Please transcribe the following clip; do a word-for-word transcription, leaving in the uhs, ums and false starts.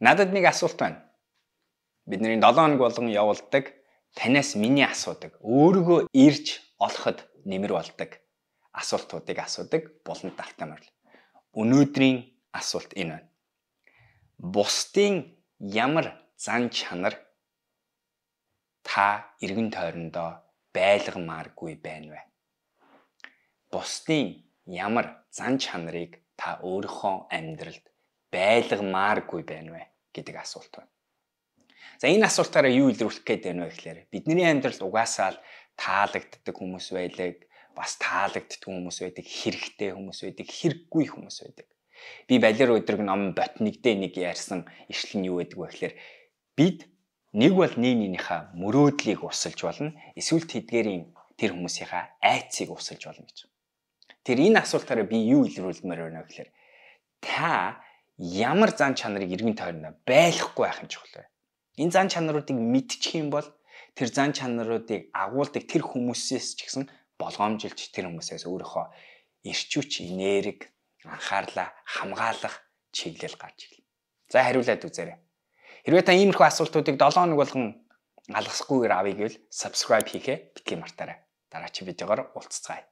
Надад нэг асуулт байна. Бидний долоо хоног болгон явуулдаг, танаас миний асуудаг, өөрийгөө ирж олоход нэмэр болдог асуултуудыг асуудаг булан талтай морил. Өнөөдрийн асуулт энэ байна. Бусдын ямар зан чанар та эргэн тойрондоо байлгамааргүй байна вэ? Бусдын ямар зан чанарыг та өөрийнхөө амьдралд байлгамааргүй байна вэ гэдэг асуулт байна. За энэ асуултаараа юу илрүүлэх гээд байна вэ гэхээр бидний амьдралд угаасаа л таалагддаг хүмүүс байдаг, бас таалагддаг хүмүүс байдаг, хэрэгтэй хүмүүс байдаг, хэрэггүй хүмүүс байдаг. Би балер өдрөг ном ботникдээ нэг ярьсан ишлэл нь юу байдаг вэ гэхээр бид нэг бол нэг нэгнийхээ мөрөөдлийг усалж болно, эсвэл тэдгээрийн тэр хүмүүсийнхаа айцыг усалж болно гэж. Тэр энэ асуултаараа би юу илрүүлмээр байна вэ гэхээр та ямар зан чанарыг эргэн тойрондоо байлгахгүй байх юм чухал. Энэ зан чанаруудыг мэдчих юм бол тэр зан чанаруудыг агуулдаг тэр хүмүүсээс ч гэсэн болгоомжилж тэр хүмүүсээс өөрийнхөө эрчүүч, энерги, анхаарлаа хамгаалах чиглэл гарч ирлээ. За хариулаад үзээрэй. Хэрвээ та иймэрхүү асуултуудыг долоо хоног болгон алгасахгүйгээр авъя гэвэл subscribe хийхээ битгий мартаарай. Дараагийн видеогоор уулзцгаая.